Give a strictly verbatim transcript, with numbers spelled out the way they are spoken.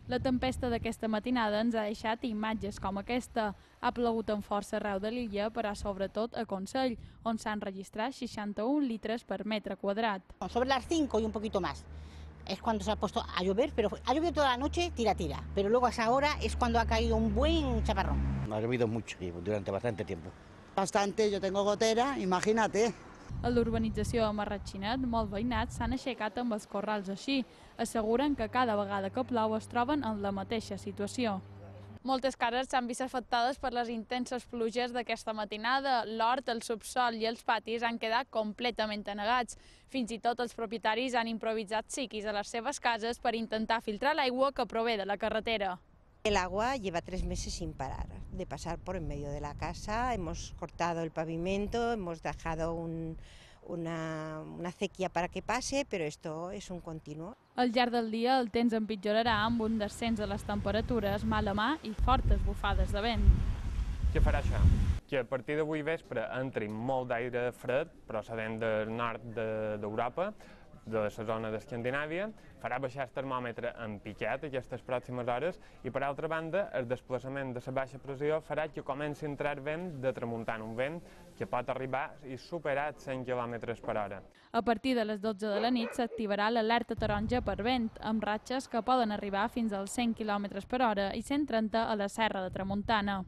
La tempesta d'aquesta matinada ens ha deixat imatges com aquesta. Ha plogut amb força arreu de l'illa, però sobretot a Consell, on s'han registrat seixanta-un litres per metre quadrat. Sobre las cinco y un poquito más. Es cuando se ha puesto a llover, pero ha llovido toda la noche, tira, tira. Pero luego a esa hora es cuando ha caído un buen chaparrón. Ha llovido mucho y durante bastante tiempo. Bastante, yo tengo gotera, imagínate. A l'urbanització de Marratxinet, molts veïnats s'han aixecat amb els corrals així. Asseguren que cada vegada que plou es troben en la mateixa situació. Moltes cases s'han vist afectades per les intenses pluges d'aquesta matinada. L'hort, el subsol i els patis han quedat completament anegats. Fins i tot els propietaris han improvisat siquis a les seves cases per intentar filtrar l'aigua que prové de la carretera. El agua lleva tres meses sin parar de pasar por en medio de la casa. Hemos cortado el pavimento, hemos dejado un, una, una acequia para que pase, pero esto es un continuo. Al llarg del dia el temps empitjorarà amb un descens de les temperatures, mala mà i fortes bufades de vent. Què farà això? Que a partir d'avui vespre entri molt d'aire fred procedent del nord d'Europa, de la zona d'Escandinàvia, farà baixar el termòmetre en piquet aquestes pròximes hores i, per altra banda, el desplaçament de la baixa pressió farà que comenci a entrar vent de tramuntana, un vent que pot arribar i superar cent quilòmetres per hora. A partir de les dotze de la nit s'activarà l'alerta taronja per vent, amb ratxes que poden arribar fins als cent quilòmetres per hora i cent trenta a la Serra de Tramuntana.